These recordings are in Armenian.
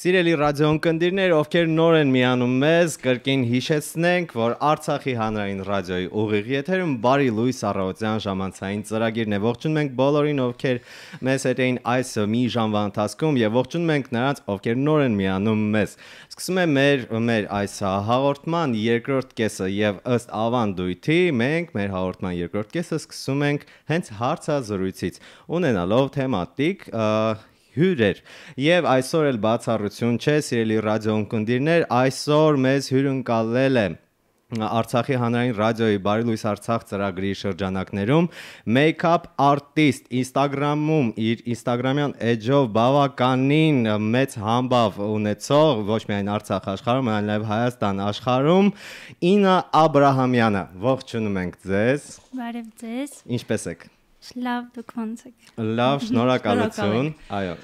Սիրելի ռադիոընկերներ, ովքեր նոր են միանում մեզ, կրկին հիշեցնենք, որ Արցախի հանրային ռադիոյի ուղիղ եթերում բարի լույս առավոտյան ժամանցային ծրագիրն է։ Ողջունում ենք բոլորին, ովքեր մեզ հետ էին այս մի ժամվա ընթացքում եւ ողջունում ենք նրանց, ովքեր նոր են միանում մեզ։ Սկսում է մեր այս հաղորդման երկրորդ կեսը եւ ըստ ավանդույթի մենք մեր հաղորդման երկրորդ կեսը սկսում ենք հենց հարցազրույցից, ունենալով թեմատիկ հյուրեր եւ այսօր էլ բացառություն չէ, սիրելի ռադիոընկերներ, այսօր մեզ հյուրընկալել է Արցախի հանրային ռադիոյի Բարի լույս Արցախ ծրագրի շրջանակներում make-up artist Instagram-ում իր Instagram-յան էջով բավականին մեծ համբավ ունեցող ոչ միայն Արցախ աշխարհում, այլ նաև Հայաստան աշխարհում Ինա Աբրահամյանը։ Ողջունում ենք ձեզ։ Բարև ձեզ։ Ինչպե՞ս եք։ Լավ, դուք ո՞նց եք։ Լավ, շնորհակալություն։ Այո։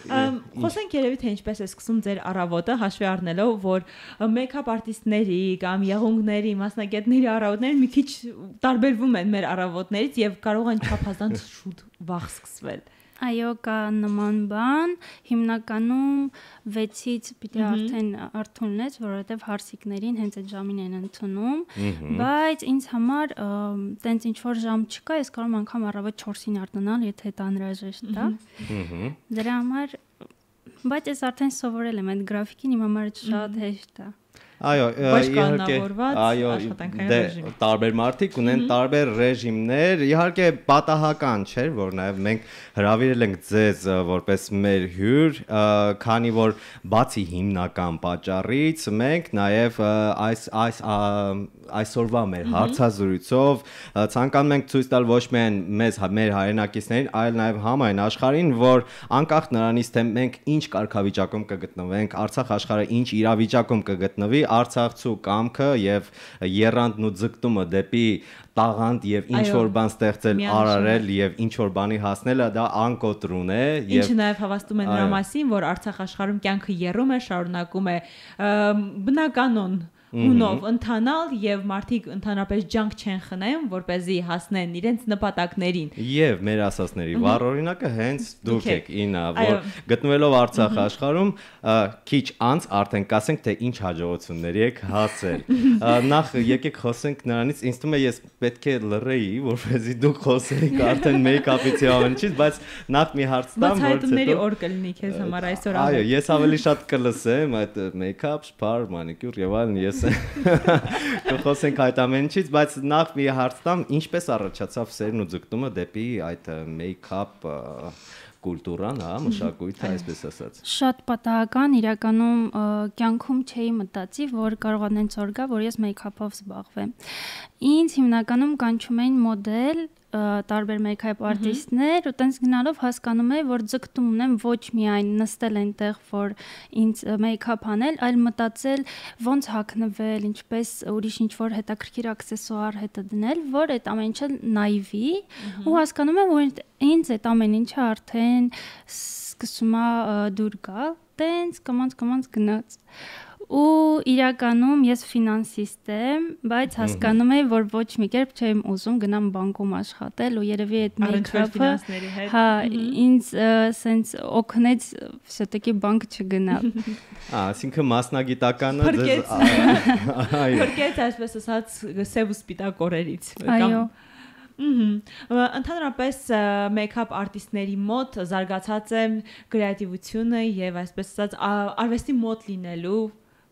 Խոսենք երևի թե ինչպես է սկսում ձեր առավոտը, հաշվի առնելով, որ make-up artist-ների կամ եղունգների, մասնագետների առավոտները մի քիչ տարբերվում են մեր առավոտներից եւ կարող են չափազանց շուտ վաղ սկսվել։ Այո, կա նման բան, հիմնականում 6-ից պիտի արդեն արթուն լինես, որովհետև հարսիկներին հենց այդ ժամին են ընդունում, բայց ինձ համար տենց ինչ որ ժամ չկա, ես կարող եմ անգամ առավոտ 4-ին արթնանալ, եթե դա անհրաժեշտ է։ Դրա համար, բայց ես արդեն սովորել եմ այդ գրաֆիկին, իմ համար շատ հեշտ է։ Այո, տարբեր մարդիկ ունեն տարբեր ռեժիմներ, իհարկե պատահական չէ, որ նաև մենք հրավիրել ենք ձեզ որպես մեր հյուր, քանի որ բացի հիմնական պատճառից մենք նաև այսօրվա մեր հարցազրույցով ցանկանում ենք ցույց տալ ոչ միայն մեր հայրենակիցներին, այլ նաև համայն աշխարհին, որ անկախ նրանից թե մենք ինչ կարգավիճակում կգտնվենք, Արցախ աշխարհը ինչ իրավիճակում կգտնվի, Արցախցու կամքը եւ եռանդն ու ձգտումը դեպի տաղանդ եւ ինչ որ բան ստեղծել, արարել եւ ինչ որ բանի հասնելը դա անկոտրուն է եւ ինչը նաեւ հավաստում է նրա մասին, որ Արցախ աշխարհում կյանքը եռում է, շարունակում է բնականon ունով ընթանալ եւ մարդիկ ընդհանրապես ջանք չեն խնայում, որպեսզի հասնեն իրենց նպատակներին։ Եվ մեր ասածների վառ օրինակը հենց դուք եք, Ինա, որ գտնվելով Արցախ աշխարհում քիչ անց արդեն կասենք թե ինչ հաջողությունների եք հասել։ Նախ եկեք խոսենք նրանից, ինձ թվում է ես պետք է լռեի, որպեսզի դուք խոսեիք արդեն make-up-ից եւ ամենից, բայց նախ մի հարց տամ, որ բացահայտումների օր կլինի քեզ համար այսօր։ Այո, ես ավելի շատ կլսեմ այդ make-up, spa, manicure եւ այլն, ես կխոսենք այդ ամենից, բայց նախ մի հարց տամ, ինչպես առաջացավ սերն ու ձգտումը դեպի այդ make-up կուլտուրան, հա, մշակույթը, այսպես ասած։ Շատ պատահական, իրականում կյանքում չէի մտածի, որ կարողանան ցոր գա, որ ես make-up-ով զբաղվեմ։ Ինձ հիմնականում կանչում էին մոդել, տարբեր make-up artist-ներ, ու տենց գնալով հասկանում եմ, որ ձգտում ունեմ ոչ միայն նստել այնտեղ, որ ինձ make-up անել, այլ մտածել ոնց հագնվել, ինչպես ուրիշ ինչ-որ հետաքրքիր աքսեսուար հետը դնել, որ այդ ամեն ինչը նայվի, ու հասկանում եմ, որ ինձ այդ ամեն ինչը արդեն սկսում է դուր գալ, տենց կամած գնաց։ Ու իրականում ես ֆինանսիստ եմ, բայց հասկանում եմ, որ ոչ մի կերպ չեմ ուզում գնամ բանկում աշխատել ու երևի այդ make-up-ը, հա, ինձ սենց օգնեց շտկի բանկ չգնալ։ Այսինքն մասնագիտականը փրկեց, այսպես ասած, սև ու սպիտակ օրերից։ Այո։ Ընդհանրապես make-up artist-ների մոտ զարգացած է կրեատիվությունը եւ այսպես ասած արվեստի մոտ լինելու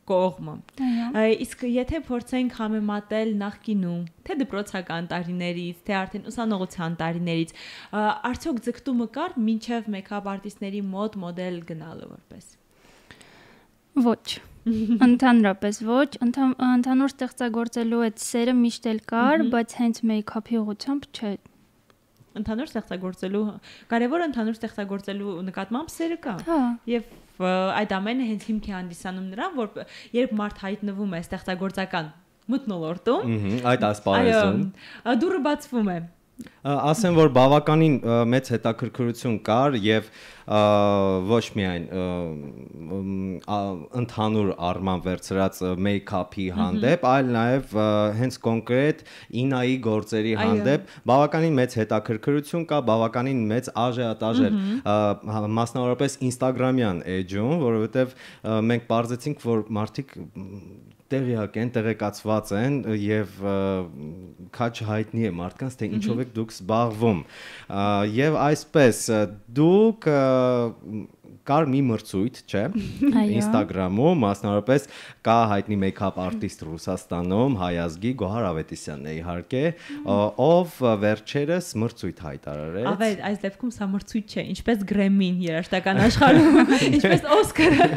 կողմը։ Իսկ եթե փորձենք համեմատել նախկինում, թե դպրոցական տարիներից, թե արդեն ուսանողության տարիներից, արդյոք ձգտումը կար մինչև make-up artist-ների մոտ մոդել գնալը որպես։ Ոչ։ Ընդհանրապես ոչ, ընդհանուր ստեղծագործելու այդ սերը միշտ էլ կար, բայց հենց make-up-ի ուղղությամբ չէ։ Ընդհանուր ստեղծագործելու, կարևորը ընդհանուր ստեղծագործելու նկատմամբ սերը կա։ Եվ այդ ամենը հենց հիմք է հանդիսանում նրան, որ երբ մարդ հայտնվում է ստեղծագործական մթնոլորտում, այդ ասպարեզում, դուռը բացվում է։ Ասեմ, որ բավականին մեծ հետաքրքրություն կար եւ ոչ միայն ընդհանուր առման վերցրած մեյքափի հանդեպ, այլ նաեւ հենց կոնկրետ Ինայի գործերի հանդեպ բավականին մեծ հետաքրքրություն կա, բավականին մեծ աժիոտաժ մասնավորապես Instagram-յան էջում, որովհետեւ մենք բարձեցինք, որ մարդիկ տեղյակ են, տեղեկացված են եւ քաչ հայտնի է մարդկանց թե ինչով եք դուք զբաղվում եւ այսպես դուք կար մի մրցույթ, չէ, Instagram-ում, մասնավորապես կա հայտնի մեյքափ արտիստ Ռուսաստանում, հայազգի Գոհար Ավետիսյանն է իհարկե, ով վերջերս մրցույթ հայտարարեց։ Ավետ, այս դեպքում սա մրցույթ չէ, ինչպես Grammy-ին երաժշտական աշխարհում, ինչպես Oscar-ը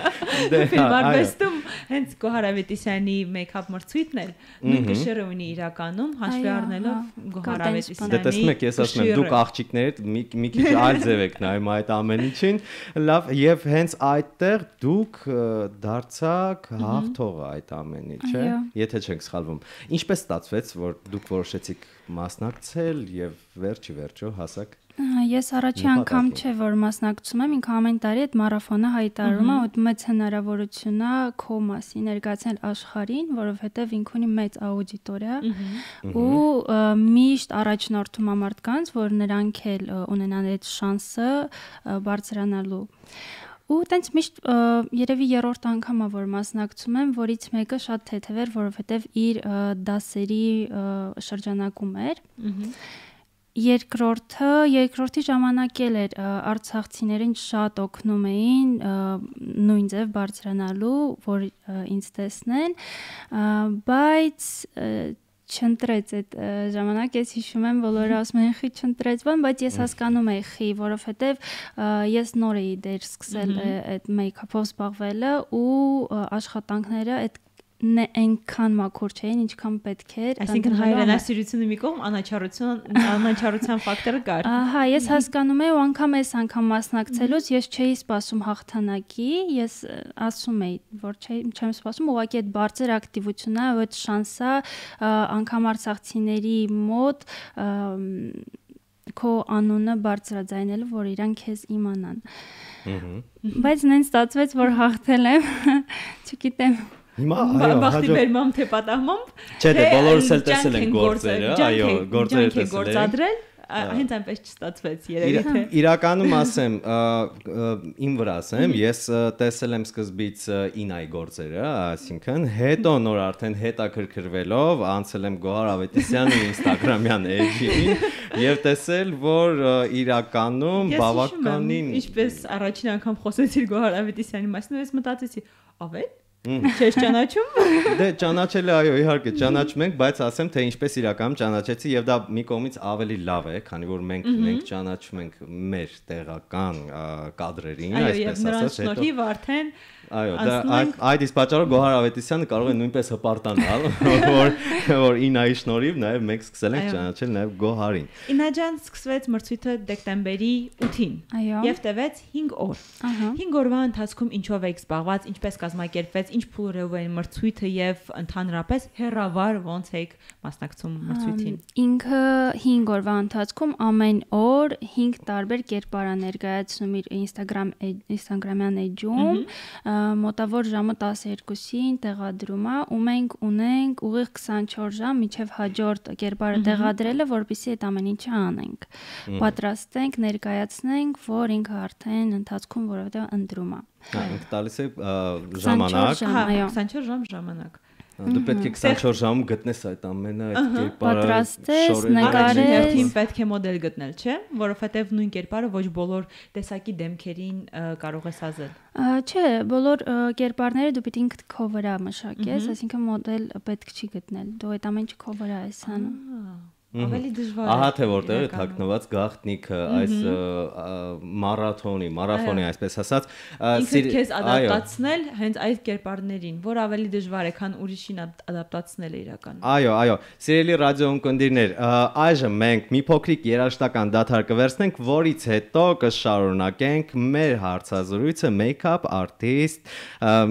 ֆիլմարվեստում, հենց Գոհար Ավետիսյանի մեյքափ մրցույթն էլ նույն գշերը ունի իրականում, հաշվի առնելով Գոհար Ավետիսյանի։ Դե տեսնեք, ես ասում եմ, դուք աղջիկներդ մի քիչ այլ ձև եք նայում այդ ամեն ինչին, լավ Եվ հենց այդտեղ դուք դարձաք հաղթողը այդ ամենի, չէ՞, եթե չենք սխալվում։ Ինչպես ստացվեց, որ դուք որոշեցիք մասնակցել եւ վերջի վերջո հասաք։ Ես առաջի անգամ չէ որ մասնակցում եմ, ինքը ամեն տարի այդ մարաթոնը հայտարարում է, որ մեծ հնարավորություն է քո մասին ներկայացնել աշխարհին, որովհետեւ ինքը ունի մեծ աուդիտորիա ու միշտ առաջնորդում է մարդկանց, որ նրանք էլ ունենան այդ շանսը բարձրանալու։ Ու տենց միշտ երևի երրորդ անգամ է որ մասնակցում եմ, որից մեկը շատ թեթև էր, որովհետև իր դասերի շրջանակում էր։ Երկրորդի ժամանակ էր արցախցիներին շատ օգնում էին նույն ձև բարձրանալու, որ ինձ տեսնեն, բայց չընտրեց այդ ժամանակ, ես հիշում եմ, բոլորը ասում են խի չընտրեց բան, բայց ես հասկանում էի խի, որովհետև ես նոր էի դեր սկսել այդ մեյքափով զբաղվելը ու աշխատանքները այդ այնքան մաքուր չէին, ինչքան պետք էր։ Այսինքն հայրենասիրությունը մի կողմ, անաչառության ֆակտորը կար։ Ահա, ես հասկանում եի ու անգամ անգամ մասնակցելուց ես չէի սպասում հաղթանակի, ես ասում էի, որ չեմ սպասում, ուղղակի այդ բարձր ակտիվությունն է, այդ շանսը անգամ արցախցիների մոտ քո անունը բարձրաձայնելու, որ իրանք քեզ իմանան։ Բայց նեն ստացվեց, որ հաղթել եմ, չգիտեմ Բախտի բերմամ թե պատահմամբ Չէ, դե բոլորս էլ տեսել են գործերը, այո, գործերը տեսել են Հենց այնպես չստացվեց երևի թե Իրականում ասեմ, իմ վրա ասեմ, ես տեսել եմ սկզբից Ինայի գործերը, այսինքն հետո նոր արդեն հետաքրքրվելով անցել եմ Գոհար Ավետիսյանի Instagram-յան էջին եւ տեսել, որ իրականում բավականին Ինչպես առաջին անգամ խոսեցիր Գոհար Ավետիսյանի մասին, ես մտածեցի, ավետ Չես ճանաչում։ Դե ճանաչել է, այո, իհարկե ճանաչում ենք, բայց ասեմ թե ինչպես իրականում ճանաչեցի եւ դա մի կողմից ավելի լավ է, քանի որ մենք ճանաչում ենք մեր տեղական կադրերին, այսպես ասած, հետո։ Այո, եւ նրանց շնորհիվ արդեն Այո, այդ իսկ պատճառով Գոհար Ավետիսյանը կարող է նույնպես հպարտանալ, որ Ինայի շնորհիվ նաեւ մենք սկսել ենք ճանաչել նաեւ Գոհարին։ Ինաջան սկսվեց մրցույթը դեկտեմբերի 8-ին եւ տևեց 5 օր։ 5 օրվա ընթացքում ինչով եք զբաղված, ինչպես կազմակերպվեց, ինչ փուլերով էին մրցույթը եւ ընդհանրապես հերավար ոնց եք մասնակցում մրցույթին։ Ինքը 5 օրվա ընթացքում ամեն օր 5 տարբեր կերպար ներկայացնում իր Instagram-յան էջում մոտավոր ժամը 12-ին տեղադրում է ու մենք ունենք ուղիղ 24 ժամ միջև հաջորդ կերպարը տեղադրելը, որպեսզի այդ ամեն ինչը անենք։ Պատրաստենք, ներկայացնենք, որ ինքը արդեն ընթացքում որովհետև ընտրում է։ Ինքը տալիս է ժամանակ, 24 ժամ ժամանակ։ Դու պետք է 24 ժամում գտնես այդ ամենը, այդ կերպարը պատրաստես, նկարես, պետք է մոդել գտնել, չէ՞, որովհետև նույն կերպարը ոչ բոլոր տեսակի դեմքերին կարող ես ազել։ Չէ, բոլոր կերպարները դու պետք է քո վրա մշակես, այսինքն մոդել պետք չի գտնել։ Դու այդ ամեն ինչը քո վրա ես անում։ Ավելի դժվար է։ Ահա թե որտեղ է թաքնված գաղտնիքը այս մարաթոնի, այսպես ասած, ինքդ քեզ ադապտացնել հենց այդ կերպարներին, որ ավելի դժվար է, քան ուրիշին ադապտացնելը իրականում։ Այո, սիրելի ռադիոընկերներ, այժմ մենք մի փոքրիկ երաժշտական դադար կվերցնենք, որից հետո կշարունակենք մեր հարցազրույցը make-up artist,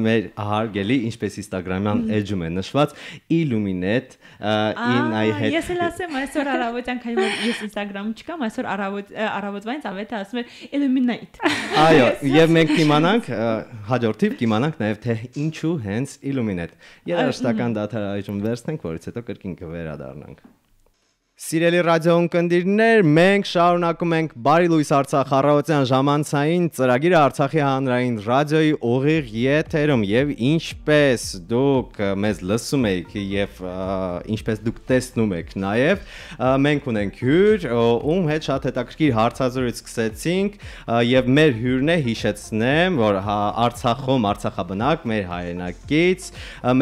մեր հարգելի, ինչպես Instagram-յան էջում է նշված, Illuminate Ինայի հետ։ Ես էլ ասեմ այս այսօր առավոտյան քանի որ ես Instagram-ում չկամ, այսօր առավոտվանից ավետը ասում էր illuminate։ Այո, եւ մենք կիմանանք հաջորդիվ կիմանանք նաեւ թե ինչու հենց illuminate։ Երաժշտական դադար այժմ վերցնենք, որից հետո կրկին կվերադառնանք։ Սիրելի ռադիոընկերներ, մենք շարունակում ենք Բարի լույս Արցախ առավոտյան ժամանցային ծրագիրը Արցախի հանրային ռադիոյի ուղիղ եթերում եւ ինչպես դուք մեզ լսում եք եւ ինչպես դուք տեսնում եք նաեւ մենք ունենք հյուր, ում հետ շատ հետաքրքիր հարցազրույց սկսեցինք եւ մեր հյուրն է հիշեցնեմ, որ Արցախում Արցախաբնակ մեր հայրենակից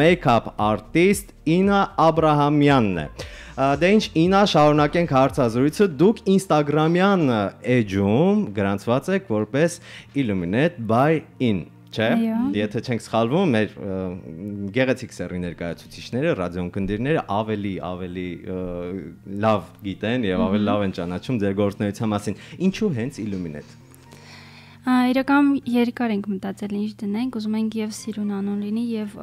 մեյքափ արտիստ Ինա Աբրահամյանն է։ Դե ինչ Ինա շարունակենք հարցազրույցը դուք Instagram-յան էջում գրանցված եք որպես Illuminate by In, չէ՞։ Եթե չենք սխալվում, մեր գեղեցիկ սերի ներկայացուցիչները, ռադիոընկերները ավելի լավ գիտեն եւ ավելի լավ են ճանաչում ձեր գործունեության մասին։ Ինչու հենց Illuminate։ Իրական երկար ենք մտածել ինչ դնենք, ուզում ենք եւ սիրուն անուն լինի եւ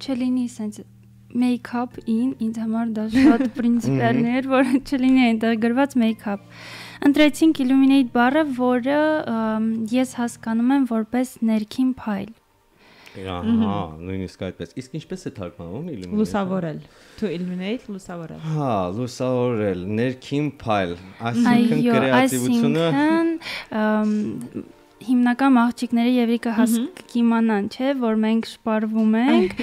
չլինի sense make-up ինձ համար դա շատ պրինցիպիալն էր, որ չլինի այնտեղ գրված make-up։ Ընտրեցինք illuminate բառը, որը ես հասկանում եմ որպես ներքին փայլ։ Ահա, նույնիսկ այդպես։ Իսկ ինչպես է թարգմանվում illuminate։ Լուսավորել։ To illuminate, լուսավորել։ Հա, լուսավորել, ներքին փայլ, այսինքն կրեատիվությունը հիմնական աղջիկները եւրիկը կիմանան, չէ, որ մենք շպարվում ենք,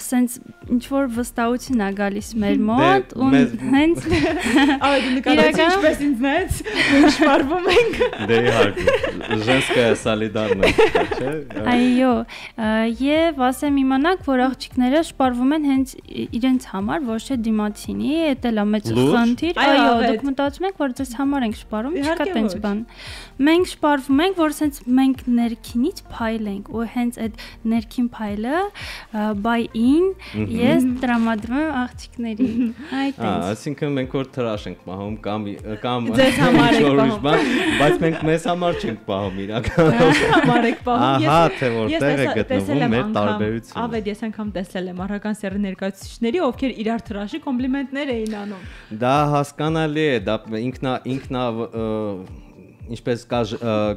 sense ինչ որ վստահություն է գալիս մեր մոտ ու հենց ավելի նկատեցի ինչպես ինձնից մենք շպարվում ենք։ Դե իհարկե, женская солидарность, չէ։ Այո, եւ ասեմ իմանաք, որ աղջիկները շպարվում են հենց իրենց համար, ոչ թե դիմացինի, դա էլ է մեծ խնդիր։ Այո, դուք մտածում եք, որ ձեզ համար ենք շպարում, չկա տենց բան։ Մենք շպարվում ենք, որ sense մենք ներքինից փայլ ենք ու հենց այդ ներքին փայլը by in ես տրամադրում եմ աղջիկներին։ Այդպես։ Այսինքն մենք որ թրաշ ենք պահում կամ ձեզ համար ենք պահում, բայց մենք մեզ համար չենք պահում իրականում։ Համար ենք պահում։ Ահա թե որտեղ է գտնվում մեր տարբերությունը։ Ավետ ես անգամ տեսել եմ առական սերի ներկայացուցիչների, ովքեր իրար թրաշի կոմպլիմենտներ էին անում։ Դա հասկանալի է, դա ինքնա ինչպես կա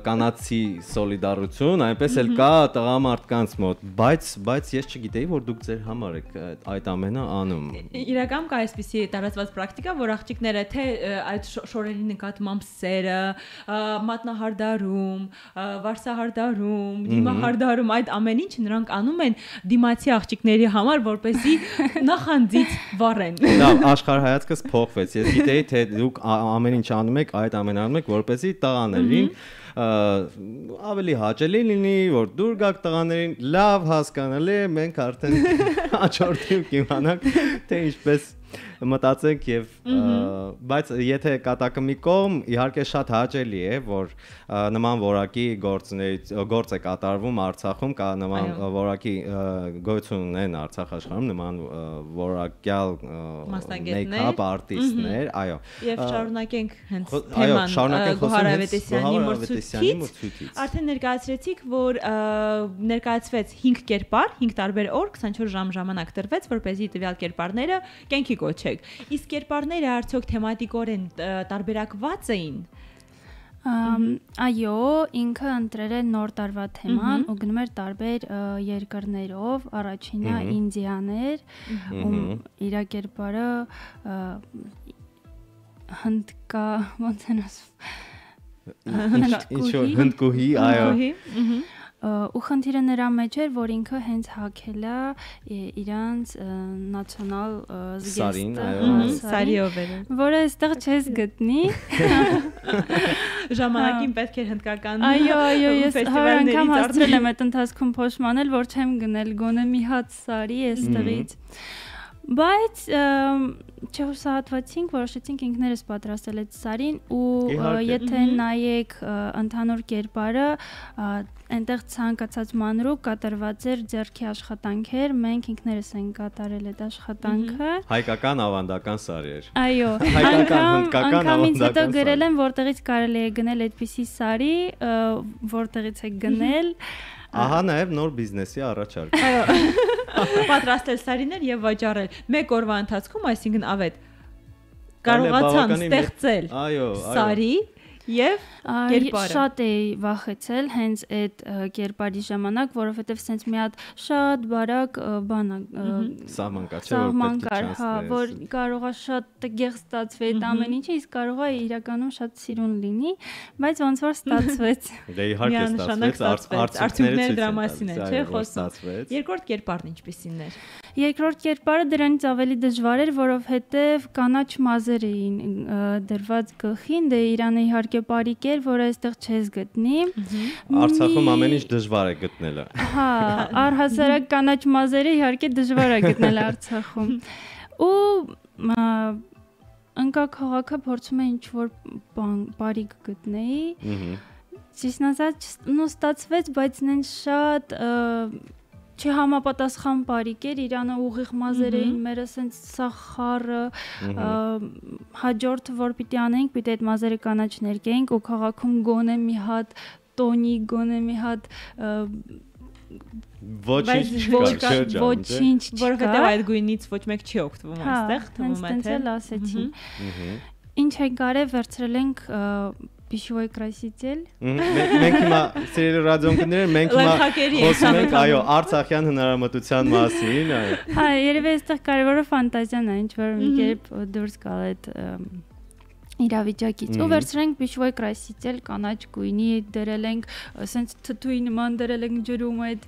կանացի սոլիդարություն, այնպես էլ կա տղամարդկանց մոտ, բայց ես չգիտեի, որ դուք ձեր համար եք այդ ամենը անում։ Իրական կա այսպիսի տարածված պրակտիկա, որ աղջիկները թե այդ շորերի նկատմամբ սերը, մատնահարդարում, վարսահարդարում, դիմահարդարում այդ ամեն ինչը նրանք անում են դիմացի աղջիկների համար, որպեսզի նախանձից վառեն։ Լավ, աշխարհայացքս փոխվեց։ Ես գիտեի, թե դուք ամեն ինչ անում եք, այդ ամենը անում եք, որպեսզի տղաներին ավելի հաճելի լինի, որ դուր գաք տղաներին, լավ հասկանալի է, մենք արդեն հաջորդիվ կիմանանք, թե ինչպես մտածենք եւ բայց եթե կատակը մի կողմ իհարկե շատ հաճելի է որ նման որակի գործ է կատարվում Արցախում կա նման որակի գոյություն ունեն Արցախ աշխարհում նման որակյալ մեյքափ արտիստներ այո եւ շարունակենք հենց թեման Գոհար Ավետիսյանի մրցույթից արդեն ներկայացրեցիք որ ներկայացվեց 5 կերպար 5 տարբեր օր 24 ժամ ժամանակ տրվեց որպեսզի տվյալ կերպարները կենքի կոչեք իսկ կերպարները արդյոք թեմատիկորեն տարբերակված էին այո ինքը ընտրել է նոր տարվա թեման ու գնում էր տարբեր երկրներով առաջինը ինդիաներ իր կերպարը հնդկա ոնց են ասում հնդկուհի այո ու խնդիրը նրա մեջ էր, որ ինքը հենց հագել է իրանց նացիոնալ զգեստը, սարիով էր, որը այստեղ չես գտնի։ Ժամանակին պետք էր հնդկական այո, ես հար անգամ հասցրել եմ այդ ընթացքում փոշմանել, որ չեմ գնել գոնե մի հատ սարի այստեղից։ Բայց չհուսահատվեցինք, որոշեցինք ինքներս պատրաստել այդ սարին ու եթե նայեք ընդհանուր կերպարը այնտեղ ցանկացած մանրուք կատարված էր ձեռքի աշխատանքեր, մենք ինքներս ենք կատարել այդ աշխատանքը։ Հայկական ավանդական սարի էր։ Այո, անգամ ինձ հետո գրել են, որտեղից կարելի է գնել այդպիսի սարի, որտեղից է գնել։ Ահա նաև նոր բիզնեսի առաջարկ։ Այո։ Պատրաստել սարիներ եւ վաճառել։ Մեկ օրվա ընթացքում, այսինքն ավետ կարողացան ստեղծել Սարի եւ կերպարը։ Շատ էի վախեցել հենց այդ կերպարի ժամանակ, որովհետեւ սենց մի հատ շատ բարակ բան սահմանկար, հա, որ կարողա շատ տգեղ ստացվի այդ ամեն ինչը, իսկ կարողա իրականում շատ սիրուն լինի, բայց ոնց որ ստացվեց։ Դե իհարկե ստացվեց, արդյունքները դրա մասին է, չէ՞, խոսում։ Երկրորդ կերպարն ինչպիսին էր։ Երկրորդ կերպարը դրանից ավելի դժվար էր, որովհետև կանաչ մազեր էին դրված գլխին, դե Իրանը իհարկե բարիկ էր, որ այստեղ չես գտնի։ Արցախում ամեն ինչ դժվար է գտնելը։ Հա, առհասարակ կանաչ մազերը իհարկե դժվար է գտնել Արցախում։ Ու ընկա քաղաքը փորձում է ինչ-որ բարիկ գտնեի։ Ճիշտն ասած, ստացվեց, բայց նեն շատ չհամապատասխան բարիկ էր, Իրանը ուղիղ մազեր էին, մերը սենց սախարը, հաջորդը որ պիտի անենք, պիտի այդ մազերը կանաչ ներկեինք ու քաղաքում գոնե մի հատ տոնի, գոնե մի հատ ոչինչ չկա, որովհետև այդ գույնից ոչ մեկ չի օգտվում այստեղ, թվում է թե։ Հենց ասեցի։ Ինչ ենք արել, վերցրել ենք Пищевой краситель։ Մենք հիմա սիրելի ռադիոընկերներ, մենք հիմա խոսում ենք, այո, արցախյան հնարամտության մասին, այո։ Հա, երևի այստեղ կարևորը ֆանտազիան է, ինչ որ մի կերպ դուրս գալ այդ իրավիճակից։ Ու վերցրենք Пищевой краситель կանաչ գույնի, դրել ենք, ասենց թթուի նման դրել ենք ջրում այդ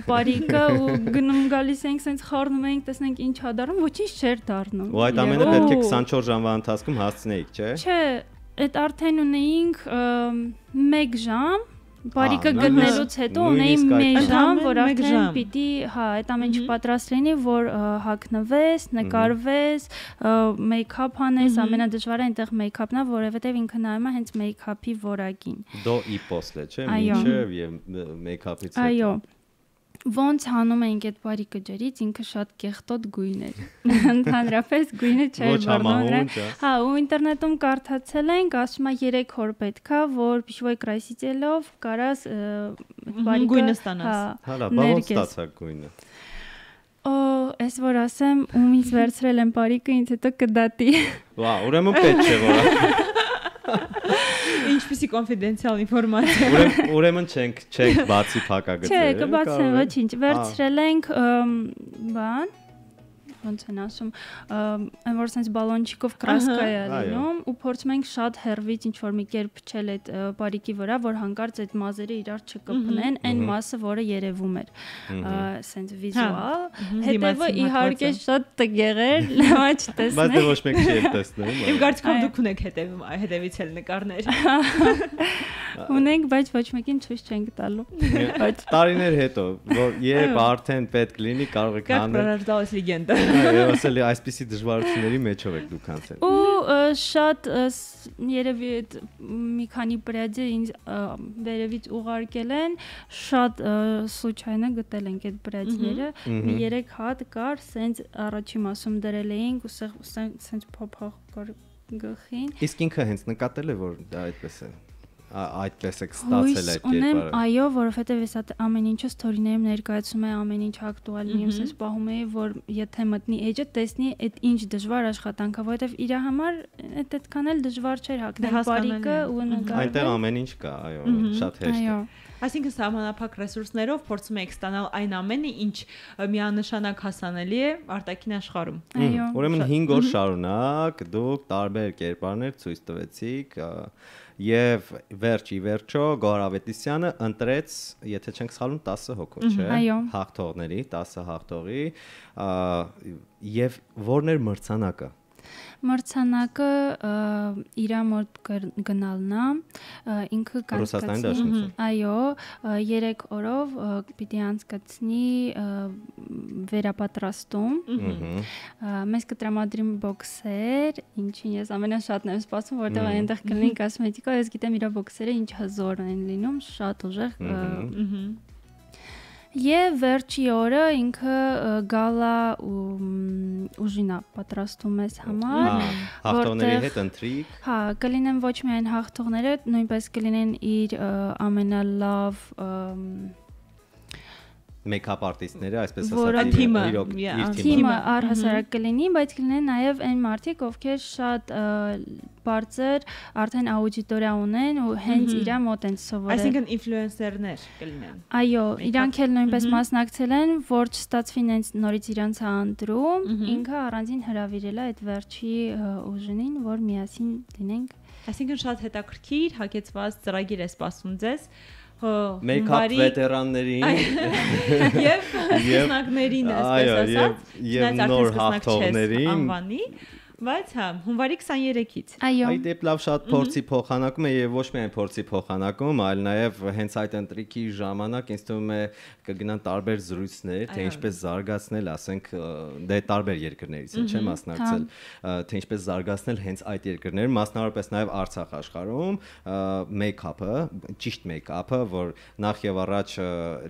բարիկը ու գնում գալիս ենք, ասենց խառնում ենք, տեսնենք ինչ ա դառնում, ոչինչ չէր դառնում։ Ու այդ ամենը պետք է 24 ժամվա ընթացքում հասցնեիք, չէ՞։ Չէ, այդ արդեն ունեինք 1 ժամ, բարիկը գտնելուց հետո ունեինք 1 ժամ, որ արդեն պիտի, հա, այդ ամեն ինչ պատրաստ լինի, որ հագնվես, նկարվես, մեյքափ անես, ամենադժվարը այնտեղ մեյքափն է, որովհետև ինքը նայում է հենց մեյքափի որակին։ Դո ի պոսլե, չէ՞, մինչև եւ մեյքափից հետո։ Այո։ Ոնց հանում էինք այդ բարիկը ջրից, ինքը շատ կեղտոտ գույն էր։ Ընդհանրապես գույնը չէր բառնում։ Հա, ու ինտերնետում կարդացել ենք, ասում է 3 օր պետքա, որ Пищевой краситель-ով կարաս բարիկը գույնը ստանաս։ Հալա, բավոց ստացակ գույնը։ Օ, ես որ ասեմ, ումից վերցրել եմ բարիկը, ինձ հետո կդատի։ Վա, ուրեմն պետք չէ որ։ Ինչպիսի կոնֆիդենցիալ ինֆորմացիա։ Ուրեմն չենք բացի փակագծերը։ Չէ, կբացեմ, ոչինչ։ Վերցրել ենք բան, ոնց են ասում, այն որ sense բալոնչիկով կրասկա է լինում ու փորձում ենք շատ հեռվից ինչ որ մի կերպ փչել այդ բարիկի վրա, որ հանկարծ այդ մազերը իրար չկպնեն, այն մասը, որը երևում էր, sense վիզուալ։ Հետևը իհարկե շատ տգեղ էր, լավ չտեսնեք։ Բայց դե ոչ մեկ չի տեսնում։ Իմ կարծիքով դուք ունեք հետևից էլ նկարներ։ Ունենք, բայց ոչ մեկին ցույց չենք տալու։ Տարիներ հետո, որ երբ արդեն պետք լինի, կարող եք անել։ Как пророждалась легенда։ Այո, ասել է այսպիսի դժվարությունների մեջով եք դուք անցել։ Ու շատ երևի այդ մի քանի պրեդը ինձ վերևից ուղարկել են, շատ случайно գտել ենք այդ պրեդները, մի 3 հատ կար, սենց առաջի մասում դրել էինք ու սենց փոփոխ կար գլխին։ Իսկ ինքը հենց նկատել է, որ դա այդպես է։ Այդպես է ստացել այդ կերպարը։ Այո, որովհետև ես ամեն ինչը ստորիներում ներկայացում եմ, ամեն ինչ ակտուալ լինում, ասես պահում եմ, որ եթե մտնի էջը, տեսնի այդ ինչ դժվար աշխատանք է, որովհետև իր համար այդքան էլ դժվար չէր հագնել բարիկը ու նկարել։ Այնտեղ ամեն ինչ կա, այո, շատ հեշտ է։ Այսինքն սահմանափակ ռեսուրսներով փորձում եք ստանալ այն ամենը, ինչ միանշանակ հասանելի է արտաքին աշխարհում։ Այո։ Ուրեմն 5 օր շարունակ դուք տարբեր կերպարներ ցույց տվեցիք եւ վերջո Գոհար Ավետիսյանը ընտրեց, եթե չենք սխալվում, 10 հոգու, չէ՞։ Հաղթողների, 10 հաղթողի եւ որն էր մրցանակը։ Մրցանակը իր մոտ գնալն է, ինքը կանցկացնի, այո, 3 օրով պիտի անցկացնի վերապատրաստում, մեզ կտրամադրի բոքսեր, ինչին ես ամենաշատն եմ սպասում, որտեղ այնտեղ կլինի կոսմետիկա, ես գիտեմ իր բոքսերը ինչ հզոր են լինում, շատ ուժեղ Եվ վերջի օրը ինքը գալա ուժինա պատրաստում ես համար, հաղթողների հետ ընտրիկ։ Հա, կլինեն ոչ միայն հաղթողները, նույնպես կլինեն իր ամենալավ make-up արտիստները, այսպես ասած, թիմը առհասարակ կլինի, բայց կլինեն նաև այն մարդիկ, ովքեր շատ բարձր արդեն աուդիտորիա ունեն ու հենց իրա մոտ են սովորել։ Այսինքն ինֆլուենսերներ կլինեն։ Այո, իրանք էլ նույնպես մասնակցել են, որ չստացվի նենց նորից իրանց անդրում, ինքը առանձին հրավիրել է այդ վերջի ուժին, որ միասին լինենք։ Այսինքն շատ հետաքրքիր, հագեցված ծրագիր է սպասում ձեզ։ Make-up վետերաններին եւ սկսնակներին, այսպես ասած, եւ նոր հաղթողներին, բայց հա, հունվարի 23-ից։ Այո։ Այդ դեպ լավ շատ փորձի փոխանակում է եւ ոչ միայն փորձի փոխանակում, այլ նաեւ հենց այդ ընտրիկի ժամանակ ինձ թվում է կգնան տարբեր զրույցներ, թե ինչպես զարգացնել, ասենք, դե տարբեր երկրներից են, չէ՞ մասնակցել, թե ինչպես զարգացնել հենց այդ երկրները, մասնավորապես նաեւ Արցախ աշխարհում make-up-ը, ճիշտ make-up-ը, որ նախ եւ առաջ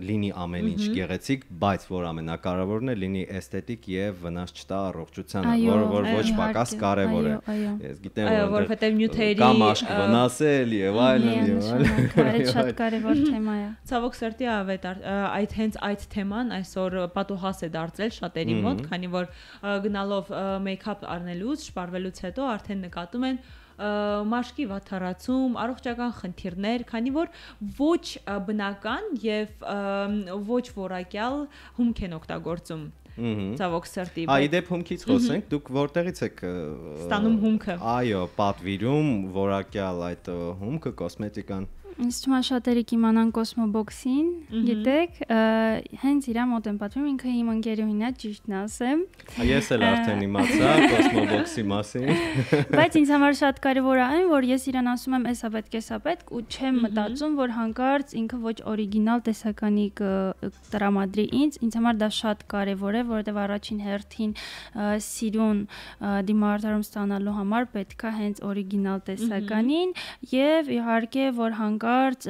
լինի ամեն ինչ գեղեցիկ, բայց որ ամենակարևորն է լինի էսթետիկ եւ վնաս չտա առողջությանը, որ ոչ պակաս կարևոր է։ Ես գիտեմ, որովհետեւ նյութերի կամ աշկ վնասել եւ այլն։ Շատ կարևոր թեմա է։ Ցավոք սրտի ավետ այդ հենց այդ թեման այսօր պատուհաս է դարձել շատերի մոտ, քանի որ գնալով make-up առնելուց, շպարվելուց հետո արդեն նկատում են մաշկի վատթարացում, առողջական խնդիրներ, քանի որ ոչ բնական եւ ոչ որակյալ հումք են օգտագործում։ Ցավոք սրտի։ Այ դեպ հումքից խոսենք, դուք որտեղից եք ստանում հումքը։ Այո, պատվիրում որակյալ այդ հումքը, կոսմետիկան։ Ինձ թվում է շատերը կիմանան Cosmobox-ին, գիտեք, հենց իրա մոտ եմ պատմում, ինքը իմ ընկերուհին է, ճիշտն ասեմ։ Ես էլ արդեն իմացա Cosmobox-ի մասին։ Բայց ինձ համար շատ կարևոր է այն, որ ես իրան ասում եմ, էսա պետք, ու չեմ մտածում, որ հանկարծ ինքը ոչ օրիգինալ տեսականի տրամադրի ինձ համար դա շատ կարևոր է, որովհետև առաջին հերթին սիրուն դիմահարդարում ստանալու համար պետք է հենց օրիգինալ տեսականին եւ իհարկե որ հանկարծ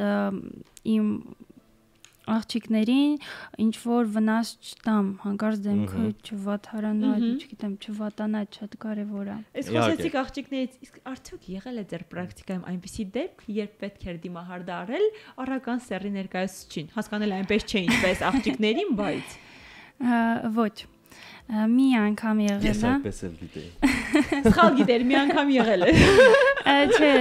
իմ աղջիկներին ինչ որ վնաս չտամ, հանկարծ դեմքը չվատարանա, չգիտեմ, չվատանա, շատ կարևոր է։ Այս խոսեցիք աղջիկներից, իսկ արդյոք եղել է ձեր պրակտիկայում այնպիսի դեպք, երբ պետք էր դիմահարդարել առական սեռի ներկայացուցիչին, հասկանել այնպես չէ ինչպես աղջիկներին, բայց ոչ մի անգամ եղել է։ Ես այդպես էլ գիտեի։ Սխալ գիտեր, մի անգամ եղել է։ Չէ,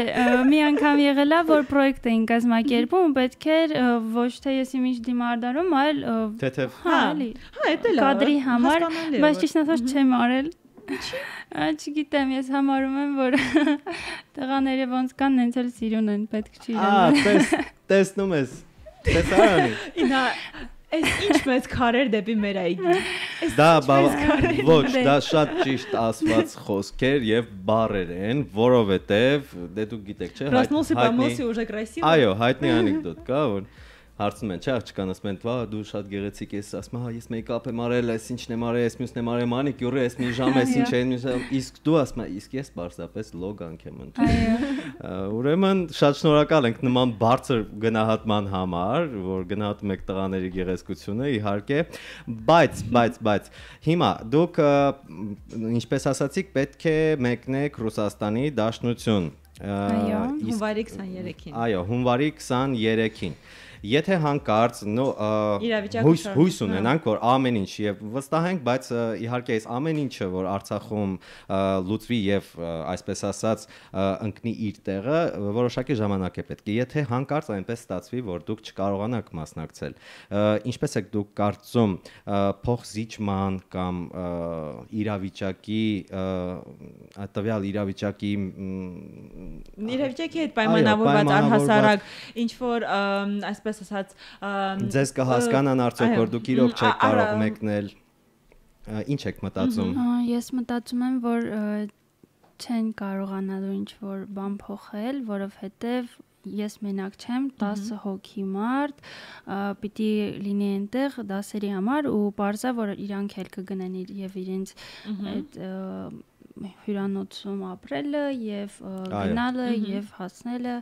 մի անգամ եղել է, որ պրոյեկտ էին կազմակերպում, պետք էր ոչ թե ես իմիջ դիմարդարում, այլ թեթև։ Հա, էլի։ Հա, դա լավ։ Կադրի համար, բայց ճիշտ ասած չեմ արել։ Չգիտեմ, ես համարում եմ, որ տղաները ոնց կան, նենց էլ սիրուն են, պետք չի լինել։ Տեսնում ես։ Տեսարանի։ Ինա Այս ինչ մեծ քարեր դեպի մեր այգի։ Դա ոչ, դա շատ ճիշտ ասված խոսքեր եւ բառեր են, որովհետեւ դե դուք գիտեք, չէ՞, Ռասմոսի պամոսի ուժը կրասիվ։ Այո, հայտնի անեկդոտ կա, որ հարցնում են, չէ՞, աղջկան ասում են, «Վա, դու շատ գեղեցիկ ես», ասում եմ, «Հա, ես մեյքափ եմ արել, այս ինչն եմ արել, այս մյուսն եմ արել, մանիկյուրը, այս մի ժամ, այս ինչ է, իսկ դու ասում ես, իսկ ես պարզապես լոգանք եմ ընդունում»։ Ուրեմն շատ շնորհակալ ենք նման բարձր գնահատման համար, որ գնահատում եք տղաների գեղեցկությունը, իհարկե, բայց հիմա դուք ինչպես ասացիք, պետք է մեկնեք Ռուսաստանի Դաշնություն։ Այո, հունվարի 23-ին։ Այո, հունվարի 23-ին։ Եթե հանկարծ հույս ունենանք, որ ամեն ինչ եւ վստահ ենք, բայց իհարկե այս ամեն ինչը, որ Արցախում լուծվի եւ այսպես ասած ընկնի իր տեղը, որոշակի ժամանակ է պետք։ Եթե հանկարծ այնպես ստացվի, որ դուք չկարողանաք մասնակցել, ինչպես եք դուք կարծում փոխզիջման կամ իրավիճակի տվյալ իրավիճակի հետ պայմանավորված առհասարակ ինչ որ այսպես ասած ձեզ կհասկանան արդյոք որ դուք իրոք չեք կարող մեկնել ինչ եք մտածում ես մտածում եմ որ չեն կարողանալու ինչ որ բան փոխել որովհետև ես մենակ չեմ 10 հոգի մարդ պիտի լինի այնտեղ դասերի համար ու բարձա որ իրանք էլ կգնեն եւ իրենց այդ հյուրանոցում ապրելը եւ գնալը եւ հասնելը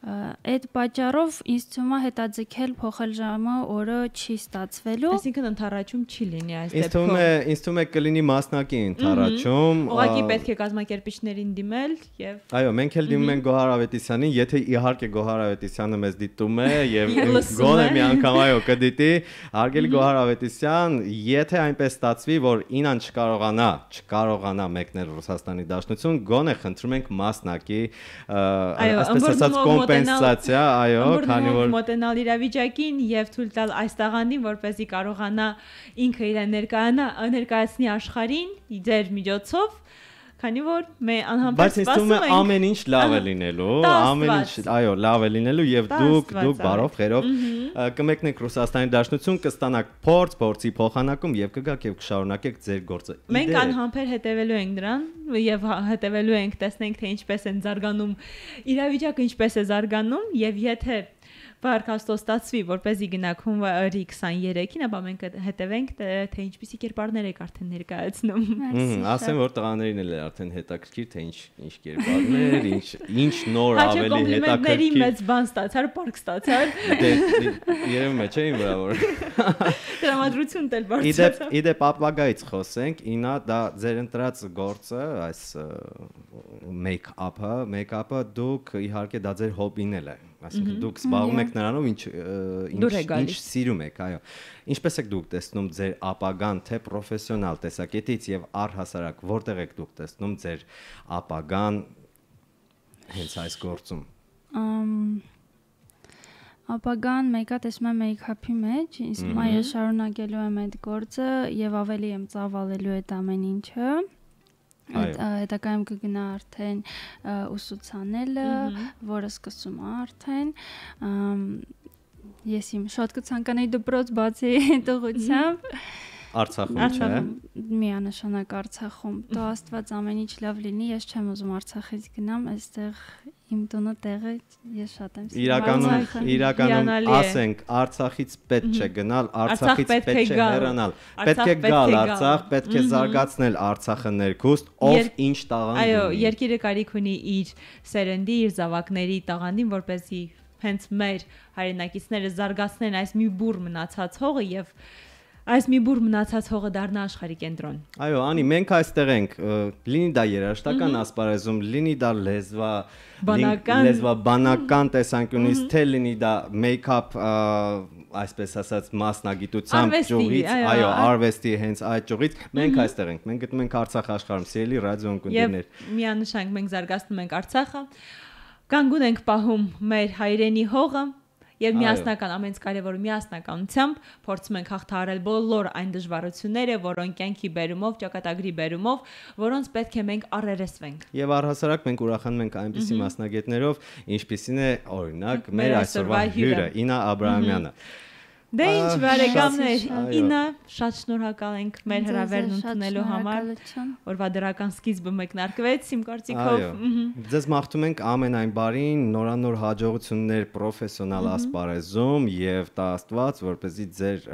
Այդ պատճառով ինձ թվում է հետաձգել փոխել ժամը օրը չի ստացվելու։ Այսինքն ընդառաջում չի լինի այս դեպքում։ Ինձ թվում է կլինի մասնակի ընդառաջում։ Ուղղակի պետք է կազմակերպիչներին դիմել եւ Այո, մենք էլ դիմում ենք Գոհար Ավետիսյանին, եթե իհարկե Գոհար Ավետիսյանը մեզ դիտում է եւ գոնե մի անգամ այո կդիտի, հարգելի Գոհար Ավետիսյան, եթե այնպես ստացվի, որ Ինան չկարողանա մեկնել Ռուսաստանի Դաշնություն, գոնե խնդրում ենք մասնակի, այսպես ասած կոմպենսացիա, այո, քանի որ մոտենալ իրավիճակին եւ թույլ տալ այս տաղանդին, որպեսզի կարողանա ինքը իրեն ներկայացնի աշխարհին ձեր միջոցով, քանի որ բայց ինձ թվում է ամեն ինչ լավ է լինելու, ամեն ինչ, այո, լավ է լինելու եւ դուք բարով խերով կմեկնեք Ռուսաստանի Դաշնություն, կստանաք փորձի փոխանակում եւ կգաք եւ կշարունակեք ձեր գործը։ Մենք անհամբեր հետևելու ենք դրան եւ հետևելու ենք, տեսնենք թե ինչպես են զարգանում իրավիճակը, ինչպես է զարգանում եւ եթե Բարքաստո ստացվի, որպեսզի գնանք հունվարի 23-ին, ապա մենք հետևենք, թե ինչպիսի կերպարներ եք արդեն ներկայացնում։ Ասեմ, որ տղաներին էլ է արդեն հետաքրքիր, թե ինչ կերպարներ, ինչ նոր ավելի հետաքրքիր։ Մեծ բան ստացար, պարկ ստացար։ Երևում է, չէ՞ իմ վրա որ։ Տրամադրություն դել բարձրացավ։ Իդեպ ապագայից խոսենք, Ինա, դա ձեր ընտրած գործը, այս մեյքափը դուք իհարկե դա ձեր հոբին է։ Այսինքն դուք զբաղվում եք նրանով, ինչ սիրում եք, այո։ Ինչպես եք դուք տեսնում ձեր ապագան, թե պրոֆեսիոնալ տեսակետից եւ առհասարակ որտեղ եք դուք տեսնում ձեր ապագան հենց այս գործում։ Ապագան մեկը տեսնում եմ մեյքափի մեջ, իսկ մայր շարունակելու եմ այդ գործը եւ ավելի եմ ծավալելու այդ ամեն ինչը։ Հետագայում կգնա արդեն ուսուցանելը, որը սկսում է արդեն։ Ես իմ շատ կցանկանայի դպրոց բացի տղությամբ։ Արցախում չէ։ Միանշանակ Արցախում։ Դու Աստված ամեն ինչ լավ լինի, ես չեմ ուզում Արցախից գնամ, այստեղ իմ տունը տեղը ես շատ եմ սիրում։ Իրականում ասենք Արցախից պետք չէ գնալ, Արցախից պետք չէ հեռանալ։ Պետք է գալ Արցախ, պետք է զարգացնել Արցախը ներքուստ, ով ինչ տաղանդ ունի։ Այո, երկիրը կարիք ունի իր սերնդի, իր զավակների տաղանդին, որպեսզի հենց մեր հայրենակիցները զարգացնեն այս մի բուռ մնացած հողը եւ այս մի բուռ մնացած հողը դառնա աշխարհի կենտրոն։ Այո, Անի, մենք այստեղ ենք, լինի դա երաժշտական ասպարեզում, լինի դա լեզվաբանական տեսանկյունից, թե լինի դա մեյքափ, այսպես ասած, մասնագիտությամբ ճյուղից, այո, արվեստի հենց այդ ճյուղից, մենք այստեղ ենք, մենք գտնում ենք Արցախ աշխարհում, սիրելի ռադիո ընկերներ։ Եվ միանշանակ մենք զարգացնում ենք Արցախը, կանգուն ենք պահում մեր հայրենի հողը եւ միասնական ամենից կարևորը միասնականությամբ փորձում ենք հաղթահարել բոլոր այն դժվարությունները, որոնք կյանքի բերումով, ճակատագրի բերումով, որոնց պետք է մենք առերեսվենք։ Եվ առհասարակ մենք ուրախանում ենք այնպիսի մասնագետներով, ինչպիսին է օրինակ մեր այսօրվա հյուրը Ինա Աբրահամյանը։ Դե ինչ բարեկամներ, Ինա, շատ շնորհակալ ենք մեր հրավերն ընդունելու համար, որվա դրական սկիզբը մեկնարկվեց իմ կարծիքով։ Ձեզ մաղթում ենք ամենայն բարին, նորանոր հաջողություններ պրոֆեսիոնալ ասպարեզում եւ տա Աստված, որպեսզի ձեր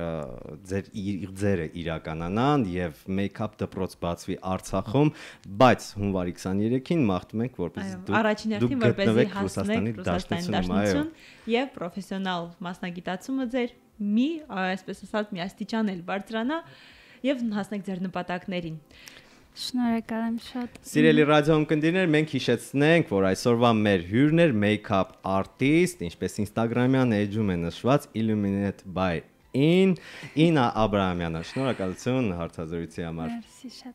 ձերը իրականանան եւ մեյքափ դպրոց բացվի Արցախում, բայց հունվարի 23-ին մաղթում ենք, որպեսզի դուք գտնվեք Ռուսաստանի Դաշնությունում եւ պրոֆեսիոնալ մասնագիտացումը ձեր մի, այսպես ասած, մի աստիճան էլ բարձրանա եւ հասնեք ձեր նպատակներին։ Շնորհակալ եմ շատ։ Սիրելի ռադիոընկերներ, մենք հիշեցնենք, որ այսօրվա մեր հյուրն էր մեյքափ արտիստ, ինչպես Instagram-յան էջում է նշված Illuminate by Ինա Աբրահամյանը։ Շնորհակալություն հարցազրույցի համար։ Մերսի շատ։